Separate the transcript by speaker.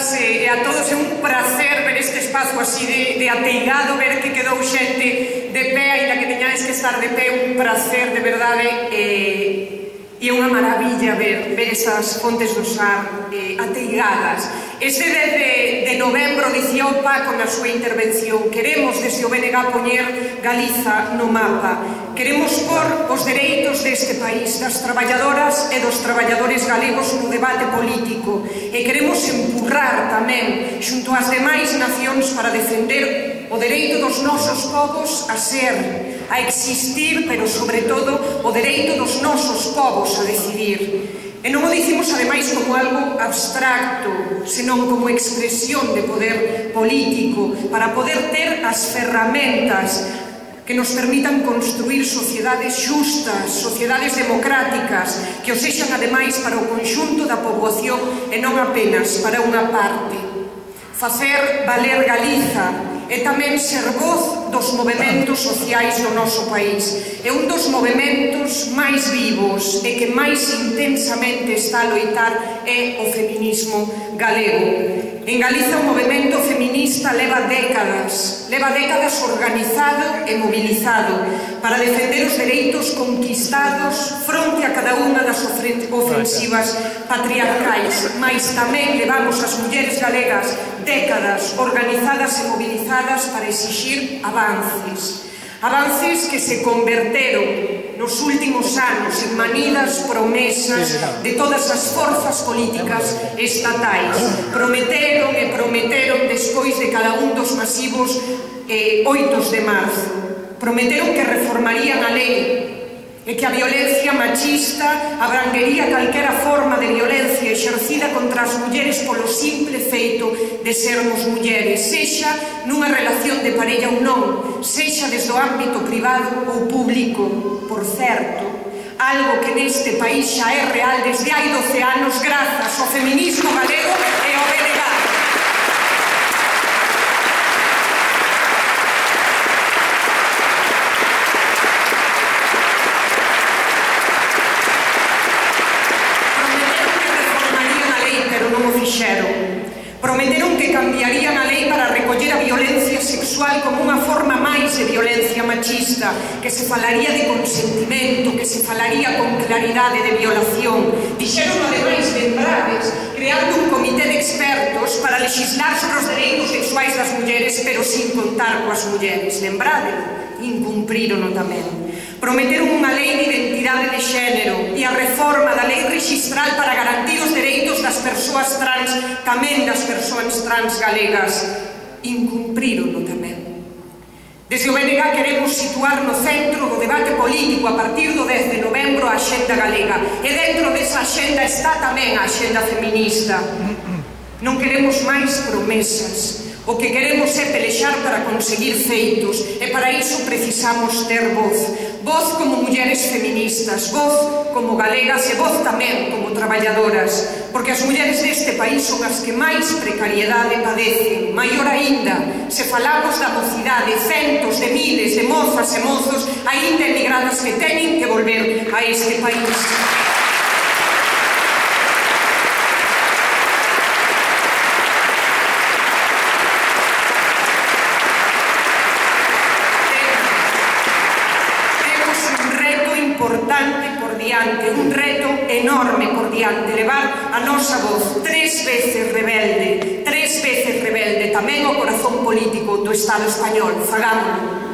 Speaker 1: todas e a todos. É un placer ver este espazo así de ateigado, ver que quedou xente de pé, ainda que teñades que estar de pé, un placer de verdade, e é unha maravilla ver esas fontes do Sar ateigadas. Este 10 de novembro dicía o Paco na súa intervención: queremos desde o BNG poñer Galiza no mapa. Queremos por os dereitos deste país, das traballadoras e dos traballadores galegos no debate político, e queremos empurrar tamén xunto ás demais nacións para defender o dereito dos nosos povos a ser, a existir, pero sobre todo o dereito dos nosos povos a decidir. E non o dicimos ademais como algo abstracto, senón como expresión de poder político, para poder ter as ferramentas que nos permitan construir sociedades xustas, sociedades democráticas, que o sexan ademais para o conxunto da poboación e non apenas para unha parte. Facer valer Galiza é tamén ser voz dos movementos sociais do noso país. É un dos movementos máis vivos e que máis intensamente está a loitar é o feminismo galego. En Galiza o movemento feminista leva décadas organizado e mobilizado para defender os dereitos conquistados fronte a cada unha das ofensivas patriarcais, mais tamén levamos as mulleres galegas décadas organizadas e mobilizadas para exixir avances. Avances que se converteron nos últimos anos en manidas promesas de todas as forzas políticas estatais. Prometeron e prometeron despois de cada un dos masivos 8 de marzo. Prometeron que reformarían a lei e que a violencia machista abranguería calquera forma de violencia exercida contra as mulleres polo simple feito de sermos mulleres, sexa nunha relación de parella ou non, sexa desde o ámbito privado ou público. Por certo, algo que neste país xa é real desde hai 12 anos grazas ao feminismo galego e ao BNG. Prometeron que cambiarían a lei para recoller a violencia sexual como unha forma máis de violencia machista, que se falaría de consentimento, que se falaría con claridade de violación. Dixeron ademais lembrades, creando un comité de expertos para legislar sobre os dereitos sexuais das mulleres, pero sin contar coas mulleres. Lembrade, incumprirono tamén. Prometeron unha lei de identidade de xénero e a reforma da lei rexistral para garantir os dereitos das persoas trans, tamén das persoas trans galegas. Incumprirono tamén. Desde o BNG queremos situar no centro do debate político a partir do 10 de novembro a axenda galega, e dentro desa axenda está tamén a axenda feminista. Non queremos máis promesas. O que queremos é pelexar para conseguir feitos, e para iso precisamos ter voz. Voz como mulleres feministas, voz como galegas e voz tamén como traballadoras, porque as mulleres deste país son as que máis precariedade padecen. Maior aínda, se falamos da mocidade, centos de miles de mozas e mozos aínda emigradas que teñen que volver a este país. Un reto enorme por diante, levar a nosa voz 3 veces rebelde, tamén o corazón político do Estado español. Fagámoslo.